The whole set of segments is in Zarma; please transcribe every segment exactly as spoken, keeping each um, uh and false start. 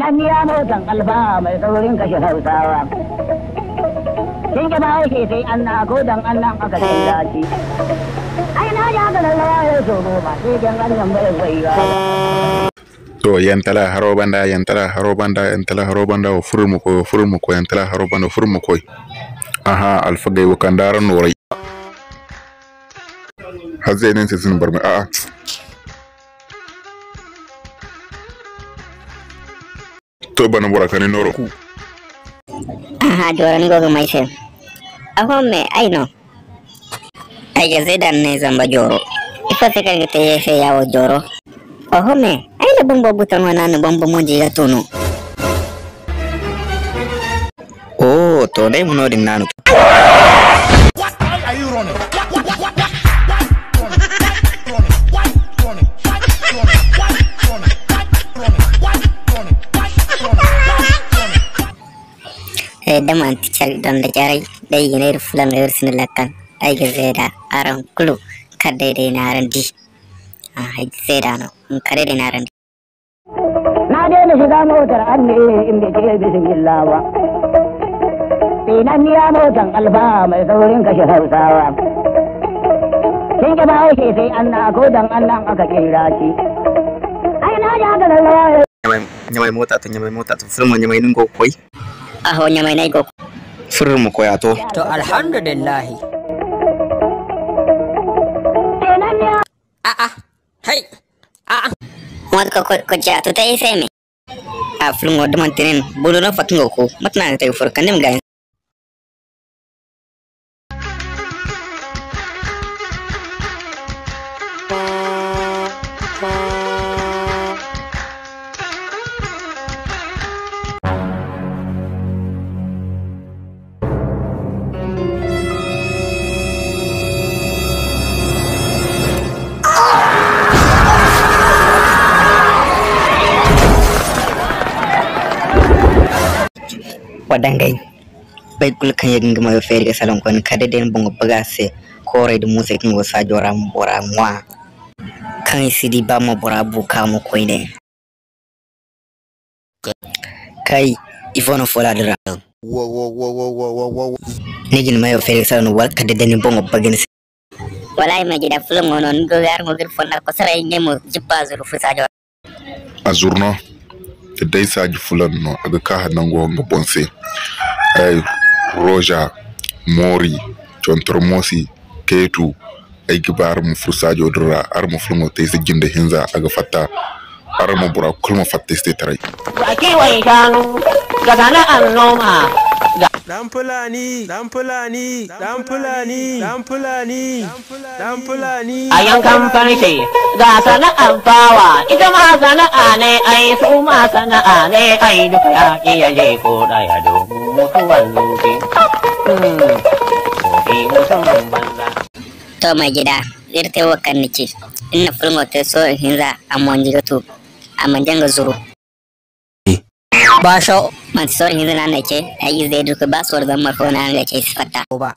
Ni ya mo dan alfa mai saurin kashe Hausawa. Kin ga ba haushe sai an na ko dan an nan aka ce dace. Ai na ja ga lallawa ya so goma sai dan an nan bai bai ba. To, yantala haro banda, yantala haro banda, yantala haro banda, wa furmu koy, wa furmu koy, yantala haro banda, wa furmu koy. Aha, alfagay wa kandara norai. Hazze nen se sin barme, a'a. To, bana bora kani noro. Aha, jora ni gogo mai se. Aho me, ai no. Ay ga zay da ni zamba jooro. Ifo se kaŋ ga te ye se ya wo jooro? Oho me, ay na bumbo buton wana no bumbo mo jiga tunu. Oh, to day mo no din nanu. Eh, da manti care donda jarey, day i ga ne iri fulango iri sinda lakkal. Ay ga zeeda araŋ kulu kala day day no araŋ di. Ah, ay ga zeeda no, kala day day no araŋ di. Na daina shiga motar anne in bai ce bismillah ba. Tsinanniya motan alfa mai saurin kashe Hausawa. Kin ga ba haushe sai an na ko dan an nan aka kira shi. Ai na ji haka lallawa. Ɲamay, ɲamay mota to, ɲamay mota to. Furo mo ɲamay no ni go ga koy? Aho, ɲamay no ay go ga koy. Furo mo koy a to. To, alhamdulillahi. A'a, hay, a'a. Mota ko, ko, ko ja to te ay se me. A furo mo da manti nin, bulu no fatin go ko. Mata no a ga te ga furo kande ma ga. Wa dangay. Boro kulu kaŋ ye ga nga mayo feeri ga salaŋ koyne, kala day day ni boŋo baga a se, kooray nda muusay kaŋ go saajo ra ma bora ŋwa. Kaŋ i si di ba mo bora bu ka mo koyne. Kay, ifo no foola din ra? Ni ga ni mayo feeri ga salaŋ no, wala kala day day ni boŋo baga ni se? Wallaahi, may jida fulaŋo no, ni go ga araŋo ga iri fonda kosoray, ne mo jibba zuru fu saajo. A zuru no, da day saaji fulaŋ no, a ga ka nango nga boŋ se. Ay, Roja, Moori, Contormosi, Keetu, ay ga ba araŋ ma furo saajo din ra, araŋ ma fulaŋo te ay se jinde hinza, a ga fatta. Araŋ ma bora kulu ma fatta ay se te taray. Wa kiwon shanu, ga sana'ar noma, ga Dan Fulani, Dan Fulani, Dan Fulani, Dan Fulani, Dan Fulani. A yankan farce, ga sana'ar fawa, ita ma sana'a ne ai, su ma sana'a ne ai, duk ya iya je ko ɗaya domin mutuwar zuci. Hmm, ko mutumin banza. To, may jida, iri te wo kaŋ ni ci. Iri na fulaŋo te sohõ hinza, a monji ga tu, a mana jaŋ ga zuru. Ba so. Manti sohõ hinza no a na ay ce, ay ize day du ka ba sohõ zambar fo no a na ay ce, ay si fatta. Ba.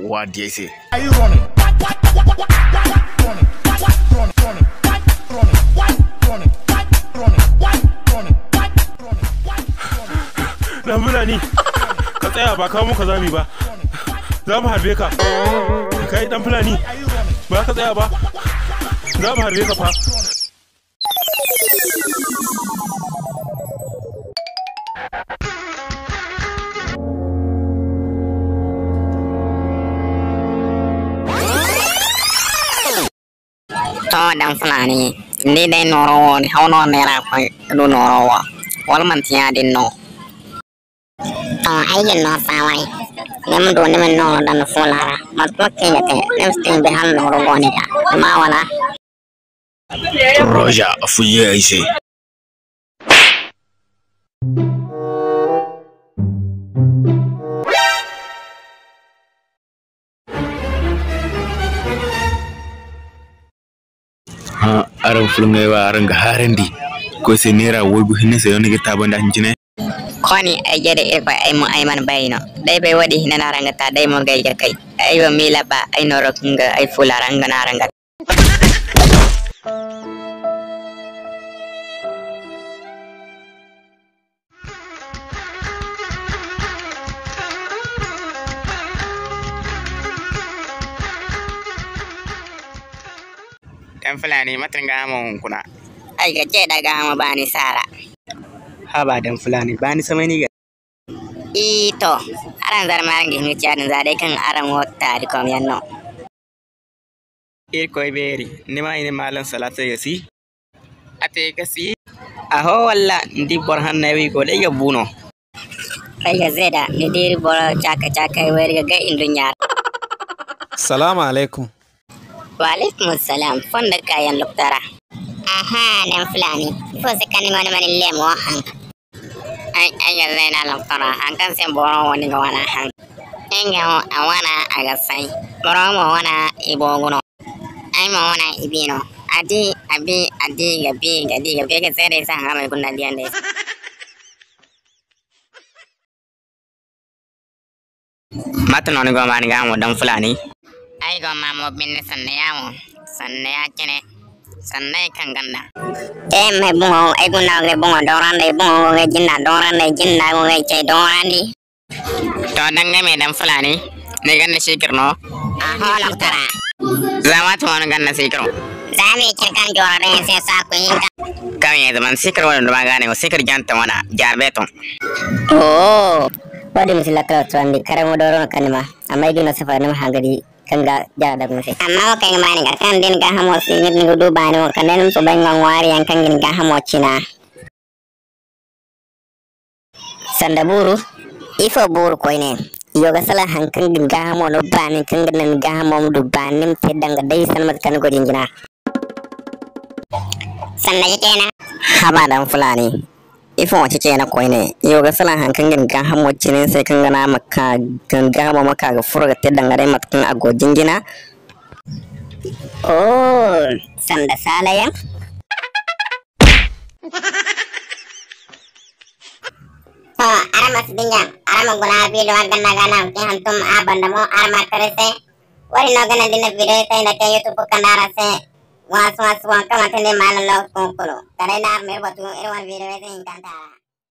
Wa di ay se. Dan Fulani, ka tsaya, ba kawo muka zami ba. Za mu harbe ka. Kai dan Fulani, ba ka tsaya ba. Za mu harbe ka fa. To, dan Fulani, ni day nooro wo, ni haw no neera koy ka du nooro wo, wala manti yaadin no? To, ay ga ni no saaway. Ni ma du, ni ma ni nooro daŋ ni fuula ra. Mate kulu kaŋ i ga te, ni ma si te ni bay hala nooro go ni ga. Ni ma wala? Roja, a fuyye ay se. Hã, araŋ fulaŋey wo, araŋ ga haarandi. Koy se neera waygu hinne se no ni ga taabandi a hincine? Kooni ay jare Irkoy, ay mo ay mana bay no. Day bay woodin hinne no araŋ ga ta, day mo gay ga kay. Ay wo miila ba ay nooro kaŋ ga ay fuula ra, nga no araŋ ga ta. Dan Fulani, mate ni gaahamo hunkuna? Ay ga ce da gaahamo baani saara. Haba Dan Fulani, baani samay ni ga. I to, araŋ zarma araŋ ga hin ga ci yaadin za day kaŋ araŋ wo taari kom yaŋ no. Irkoy beeri, ni ma i ne maalam salaatey ga si? A te ga si. Aho walla, ni di boro hanney wo i go day ga bu no. Ay ga ze da, ni di iri boro caaka-caakey wo iri ga gay nduɲɲa ra. Salaamu alaykum. Wa alaykum assalam. Fondo kaayaŋ loktara. Aha, Dan Fulani. Ifo se kaŋ ni mana mana leemo haŋ? Ay, ay ga ze da loktara, haŋ kaŋ se boro wo ni ga wana haŋ. Nga wo a wana a ga say. Boro mo wana i boogu no. Ay mo wana i bi no. A di, a bi, a di, ga bi, ga di, ga bi, ga se day se haŋ a ma ay guna diyaŋ day. Mate no ni go ma ni gaahamo Dan Fulani? Ay go ma mo binde sanda ya mo, sanda ya cine, sanda ya kaŋ ganda. Te me boŋo, ay guna ga boŋo doorandi, boŋo go ga jinda doorandi, jinda go ga cay doorandi. To, danga me Dan Fulani, ni ganda sikir no? Aho, loktara. Za waati mo ni ganda sikir no? Za me cine kaŋ jooro day se saaku hinka. Kaŋ ye zaman sikir wane duma ga ne, sikir janta wana, jarbe to. Oh, wadi misi lakkal turandi, kare mo doro no kaŋ ni ma. Amma ay di no safari ni ma hanga di kaŋ ga jara da gunse. Amma wo kaŋ ni ma ni ga kaŋ din ga hamo si ni ga du baani wo kaŋ ne ni ma soobay nga ŋwaari yaŋ kaŋ ga ni ga hamo cina. Sanda buuru, ifo buuru koyne? Yo ga salaŋ haŋ kaŋ ga ni gaahamo no baani, kaŋ ga naŋ ni gaahamo ma du baani, ni ma te danga day sanda mate kaŋ ni go jinjina. Sanda ceeceena. Haba Dan Fulani, ifo ceeceena koyne? Yo ga salaŋ haŋ kaŋ ga ni gaahamo cine ni se kaŋ ga naŋ a ma ka, ga ni gaahamo ma ka ga furo ga te danga day mate kaŋ a go jinjina. Oh, sanda saalayaŋ. To, araŋ ma si dinya, araŋ ma guna video a ganna ga naŋ ga hantum a banda mo, araŋ ma tara se. Wari no ga naŋ din na video te nda te YouTube kanda araŋ se. Wasu wasu wan kamata ne malam lo kunkulu. Kare na araŋ ma ir batu ir wan video te hinkanta ra.